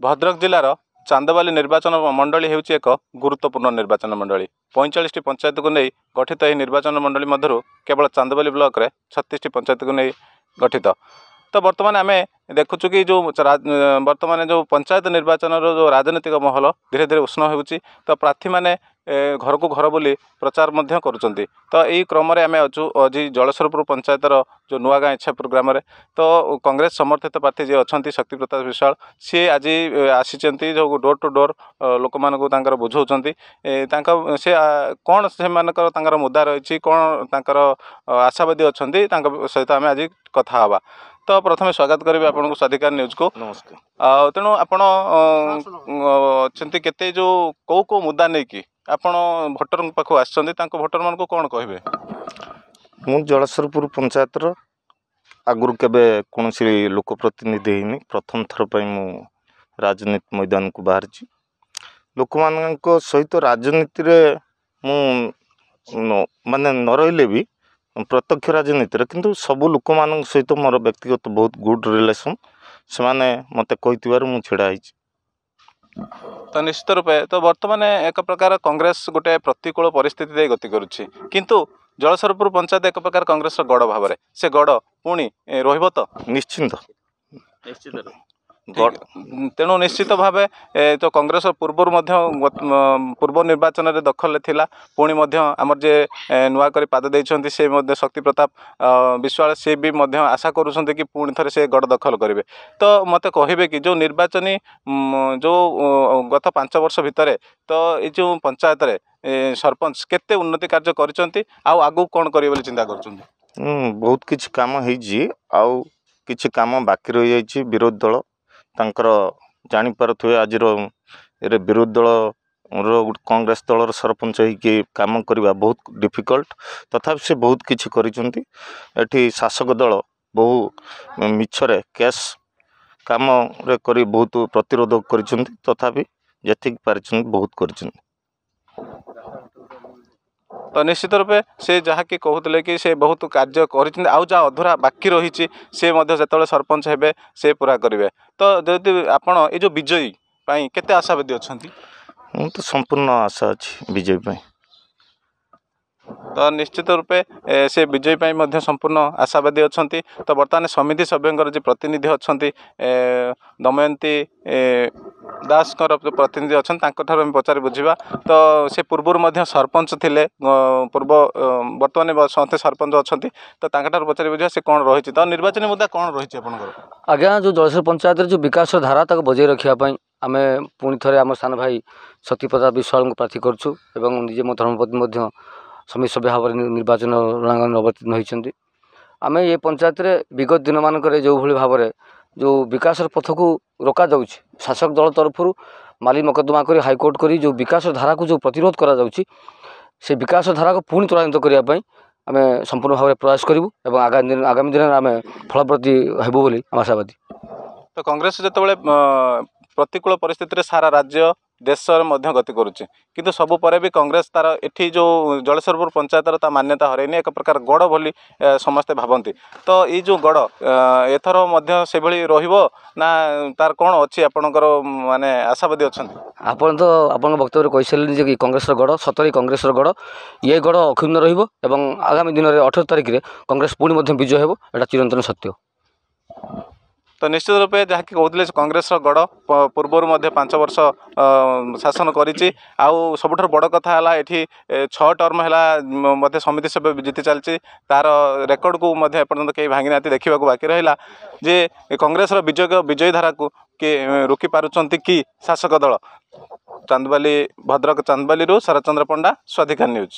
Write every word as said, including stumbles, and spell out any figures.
ଭଦ୍ରକ ଜିଲ୍ଲାର ଚାନ୍ଦବାଲି ନିର୍ବାଚନ ମଣ୍ଡଳୀ ହେଉଛି ଏକ ଗୁରୁତ୍ୱପୂର୍ଣ୍ଣ ନିର୍ବାଚନ ମଣ୍ଡଳୀ। ପଇଁଚାଳିଶଟି ପଞ୍ଚାୟତକୁ ନେଇ ଗଠିତ ଏହି ନିର୍ବାଚନ ମଣ୍ଡଳୀ ମଧ୍ୟରୁ କେବଳ ଚାନ୍ଦବାଲି ବ୍ଲକରେ ଛତିଶଟି ପଞ୍ଚାୟତକୁ ନେଇ ଗଠିତ। ତ ବର୍ତ୍ତମାନ ଆମେ ଦେଖୁଛୁ କି ଯେଉଁ ବର୍ତ୍ତମାନ ଯେଉଁ ପଞ୍ଚାୟତ ନିର୍ବାଚନର ଯେଉଁ ରାଜନୈତିକ ମହଲ ଧୀରେ ଧୀରେ ଉଷ୍ଣ ହେଉଛି, ତ ପ୍ରାର୍ଥୀମାନେ ଘରକୁ ଘର ବୁଲି ପ୍ରଚାର ମଧ୍ୟ କରୁଛନ୍ତି। ତ ଏଇ କ୍ରମରେ ଆମେ ଅଛୁ ଆଜି ଜଳେଶ୍ୱରପୁର ପଞ୍ଚାୟତର ଯେଉଁ ନୂଆଗାଁ ଇଚ୍ଛାପୁର ଗ୍ରାମରେ। ତ କଂଗ୍ରେସ ସମର୍ଥିତ ପ୍ରାର୍ଥୀ ଯିଏ ଅଛନ୍ତି ଶକ୍ତି ପ୍ରତାପ ବିଶ୍ୱାଳ, ସିଏ ଆଜି ଆସିଛନ୍ତି, ଯେଉଁ ଡୋର୍ ଟୁ ଡୋର୍ ଲୋକମାନଙ୍କୁ ତାଙ୍କର ବୁଝାଉଛନ୍ତି। ତାଙ୍କ ସେ କ'ଣ ସେମାନଙ୍କର ତାଙ୍କର ମୁଦ୍ଦା ରହିଛି, କ'ଣ ତାଙ୍କର ଆଶାବାଦୀ ଅଛନ୍ତି, ତାଙ୍କ ସହିତ ଆମେ ଆଜି କଥା ହେବା। ତ ପ୍ରଥମେ ସ୍ୱାଗତ କରିବି ଆପଣଙ୍କୁ ସ୍ୱାଧିକାର ନ୍ୟୁଜ୍କୁ। ନମସ୍କାର। ଆଉ ତେଣୁ ଆପଣ ଅଛନ୍ତି କେତେ ଯେଉଁ କେଉଁ କେଉଁ ମୁଦ୍ଦା ନେଇକି ଆପଣ ଭୋଟରଙ୍କ ପାଖକୁ ଆସିଛନ୍ତି, ତାଙ୍କ ଭୋଟରମାନଙ୍କୁ କ'ଣ କହିବେ? ମୁଁ ଜଳେଶ୍ୱରପୁର ପଞ୍ଚାୟତର ଆଗରୁ କେବେ କୌଣସି ଲୋକ ପ୍ରତିନିଧି ହେଇନି, ପ୍ରଥମ ଥର ପାଇଁ ମୁଁ ରାଜନୀତି ମଇଦାନକୁ ବାହାରିଛି। ଲୋକମାନଙ୍କ ସହିତ ରାଜନୀତିରେ ମୁଁ ମାନେ ନ ରହିଲେ ବି ପ୍ରତ୍ୟକ୍ଷ ରାଜନୀତିରେ, କିନ୍ତୁ ସବୁ ଲୋକମାନଙ୍କ ସହିତ ମୋର ବ୍ୟକ୍ତିଗତ ବହୁତ ଗୁଡ଼୍ ରିଲେସନ୍। ସେମାନେ ମୋତେ କହିଥିବାରୁ ମୁଁ ଛିଡ଼ା ହେଇଛି। ତ ନିଶ୍ଚିତ ରୂପେ ତ ବର୍ତ୍ତମାନ ଏକ ପ୍ରକାର କଂଗ୍ରେସ ଗୋଟେ ପ୍ରତିକୂଳ ପରିସ୍ଥିତି ଦେଇ ଗତି କରୁଛି, କିନ୍ତୁ ଜଳେଶ୍ୱରପୁର ପଞ୍ଚାୟତ ଏକ ପ୍ରକାର କଂଗ୍ରେସର ଗଡ଼ ଭାବରେ, ସେ ଗଡ଼ ପୁଣି ରହିବ ତ? ନିଶ୍ଚିନ୍ତ। ତେଣୁ ନିଶ୍ଚିତ ଭାବେ ତ କଂଗ୍ରେସ ପୂର୍ବରୁ ମଧ୍ୟ ପୂର୍ବ ନିର୍ବାଚନରେ ଦଖଲରେ ଥିଲା, ପୁଣି ମଧ୍ୟ ଆମର ଯିଏ ନୂଆ କରି ପାଦ ଦେଇଛନ୍ତି ସେ ମଧ୍ୟ ଶକ୍ତି ପ୍ରତାପ ବିଶ୍ୱାଳ, ସେ ବି ମଧ୍ୟ ଆଶା କରୁଛନ୍ତି କି ପୁଣି ଥରେ ସେ ଗଡ଼ ଦଖଲ କରିବେ। ତ ମୋତେ କହିବେ କି ଯେଉଁ ନିର୍ବାଚନୀ ଯେଉଁ ଗତ ପାଞ୍ଚ ବର୍ଷ ଭିତରେ ତ ଏଇ ଯେଉଁ ପଞ୍ଚାୟତରେ ସରପଞ୍ଚ କେତେ ଉନ୍ନତି କାର୍ଯ୍ୟ କରିଛନ୍ତି ଆଉ ଆଗକୁ କ'ଣ କରିବେ ବୋଲି ଚିନ୍ତା କରୁଛନ୍ତି? ବହୁତ କିଛି କାମ ହେଇଛି, ଆଉ କିଛି କାମ ବାକି ରହିଯାଇଛି। ବିରୋଧୀ ଦଳ ତାଙ୍କର ଜାଣିପାରୁଥିବେ, ଆଜିର ଏ ବିରୋଧୀ ଦଳର କଂଗ୍ରେସ ଦଳର ସରପଞ୍ଚ ହେଇକି କାମ କରିବା ବହୁତ ଡିଫିକଲ୍ଟ, ତଥାପି ସେ ବହୁତ କିଛି କରିଛନ୍ତି। ଏଠି ଶାସକ ଦଳ ବହୁ ମିଛରେ କେସ୍ କାମରେ କରି ବହୁତ ପ୍ରତିରୋଧ କରିଛନ୍ତି, ତଥାପି ଯେତିକି ପାରିଛନ୍ତି ବହୁତ କରିଛନ୍ତି। ତ ନିଶ୍ଚିତ ରୂପେ ସେ ଯାହାକି କହୁଥିଲେ କି ସେ ବହୁତ କାର୍ଯ୍ୟ କରିଛନ୍ତି, ଆଉ ଯାହା ଅଧୁରା ବାକି ରହିଛି ସେ ମଧ୍ୟ ଯେତେବେଳେ ସରପଞ୍ଚ ହେବେ ସେ ପୁରା କରିବେ। ତ ଯଦି ଆପଣ ଏଇ ଯେଉଁ ବିଜୟୀ ପାଇଁ କେତେ ଆଶାବାଦୀ ଅଛନ୍ତି? ମୁଁ ତ ସମ୍ପୂର୍ଣ୍ଣ ଆଶା ଅଛି ବିଜୟୀ ପାଇଁ। ତ ନିଶ୍ଚିତ ରୂପେ ସେ ବିଜୟୀ ପାଇଁ ମଧ୍ୟ ସମ୍ପୂର୍ଣ୍ଣ ଆଶାବାଦୀ ଅଛନ୍ତି। ତ ବର୍ତ୍ତମାନ ସମିତି ସଭ୍ୟଙ୍କର ଯେ ପ୍ରତିନିଧି ଅଛନ୍ତି ଦମୟନ୍ତୀ ଦାସଙ୍କର ପ୍ରତିନିଧି ଅଛନ୍ତି, ତାଙ୍କଠାରୁ ଆମେ ପଚାରି ବୁଝିବା। ତ ସେ ପୂର୍ବରୁ ମଧ୍ୟ ସରପଞ୍ଚ ଥିଲେ, ପୂର୍ବ ବର୍ତ୍ତମାନ ସମସ୍ତେ ସରପଞ୍ଚ ଅଛନ୍ତି, ତ ତାଙ୍କଠାରୁ ପଚାରି ବୁଝିବା ସେ କ'ଣ ରହିଛି। ତ ନିର୍ବାଚନୀ ମୁଦ୍ଦା କ'ଣ ରହିଛି ଆପଣଙ୍କର? ଆଜ୍ଞା, ଯେଉଁ ଜଳେଶ୍ୱର ପଞ୍ଚାୟତରେ ଯେଉଁ ବିକାଶର ଧାରା ତାକୁ ବଜାଇ ରଖିବା ପାଇଁ ଆମେ ପୁଣି ଥରେ ଆମ ସାନ ଭାଇ ଶକ୍ତି ପ୍ରତାପ ବିଶ୍ୱାଳଙ୍କୁ ପ୍ରାର୍ଥୀ କରୁଛୁ ଏବଂ ନିଜେ ମୋ ଧର୍ମପତ୍ନୀ ମଧ୍ୟ ସମିତି ସଭ୍ୟ ଭାବରେ ନିର୍ବାଚନ ରଣାଙ୍ଗନରେ ଅବତୀର୍ଣ୍ଣ ହୋଇଛନ୍ତି। ଆମେ ଏ ପଞ୍ଚାୟତରେ ବିଗତ ଦିନମାନଙ୍କରେ ଯେଉଁଭଳି ଭାବରେ ଯେଉଁ ବିକାଶର ପଥକୁ ରୋକାଯାଉଛି, ଶାସକ ଦଳ ତରଫରୁ ମାଲି ମକଦ୍ଦମା କରି ହାଇକୋର୍ଟ କରି ଯେଉଁ ବିକାଶ ଧାରାକୁ ଯେଉଁ ପ୍ରତିରୋଧ କରାଯାଉଛି, ସେ ବିକାଶ ଧାରାକୁ ପୁଣି ତ୍ୱରାନ୍ୱିତ କରିବା ପାଇଁ ଆମେ ସମ୍ପୂର୍ଣ୍ଣ ଭାବରେ ପ୍ରୟାସ କରିବୁ ଏବଂ ଆଗାମୀ ଦିନ ଆଗାମୀ ଦିନରେ ଆମେ ଫଳପ୍ରତି ହେବୁ ବୋଲି ଆମେ ଆଶାବାଦୀ। ତ କଂଗ୍ରେସ ଯେତେବେଳେ ପ୍ରତିକୂଳ ପରିସ୍ଥିତିରେ ସାରା ରାଜ୍ୟ ଦେଶରେ ମଧ୍ୟ ଗତି କରୁଛି, କିନ୍ତୁ ସବୁ ପରେ ବି କଂଗ୍ରେସ ତାର ଏଠି ଯେଉଁ ଜଳେଶ୍ୱରପୁର ପଞ୍ଚାୟତର ତା ମାନ୍ୟତା ହରାଇନି, ଏକ ପ୍ରକାର ଗଡ଼ ବୋଲି ସମସ୍ତେ ଭାବନ୍ତି। ତ ଏଇ ଯେଉଁ ଗଡ଼ ଏଥର ମଧ୍ୟ ସେଭଳି ରହିବ ନା ତାର କ'ଣ ଅଛି ଆପଣଙ୍କର ମାନେ ଆଶାବାଦୀ ଅଛନ୍ତି? ଆପଣ ତ ଆପଣଙ୍କ ବକ୍ତବ୍ୟରେ କହିସାରିଲେଣି ଯେ କି କଂଗ୍ରେସର ଗଡ଼ ସତରେ କଂଗ୍ରେସର ଗଡ଼, ଇଏ ଗଡ଼ ଅକ୍ଷୁଣ୍ଣ ରହିବ ଏବଂ ଆଗାମୀ ଦିନରେ ଅଠର ତାରିଖରେ କଂଗ୍ରେସ ପୁଣି ମଧ୍ୟ ବିଜୟ ହେବ, ଏଇଟା ଚିରନ୍ତନ ସତ୍ୟ। ତ ନିଶ୍ଚିତ ରୂପେ ଯାହାକି କହୁଥିଲେ କଂଗ୍ରେସର ଗଡ଼ ପୂର୍ବରୁ ମଧ୍ୟ ପାଞ୍ଚ ବର୍ଷ ଶାସନ କରିଛି, ଆଉ ସବୁଠାରୁ ବଡ଼ କଥା ହେଲା ଏଠି ଛଅ ଟର୍ମ ହେଲା ମଧ୍ୟ ସମିତି ସଭ୍ୟ ଜିତି ଚାଲିଛି, ତାର ରେକର୍ଡ଼କୁ ମଧ୍ୟ ଏପର୍ଯ୍ୟନ୍ତ କେହି ଭାଙ୍ଗି ନାହାନ୍ତି। ଦେଖିବାକୁ ବାକି ରହିଲା ଯେ କଂଗ୍ରେସର ବିଜୟ ବିଜୟୀ ଧାରାକୁ କିଏ ରୋକି ପାରୁଛନ୍ତି କି ଶାସକ ଦଳ। ଚାନ୍ଦବାଲି, ଭଦ୍ରକ ଚାନ୍ଦବାଲିରୁ ଶରତ ଚନ୍ଦ୍ର ପଣ୍ଡା, ସ୍ୱାଧିକାର ନ୍ୟୁଜ୍।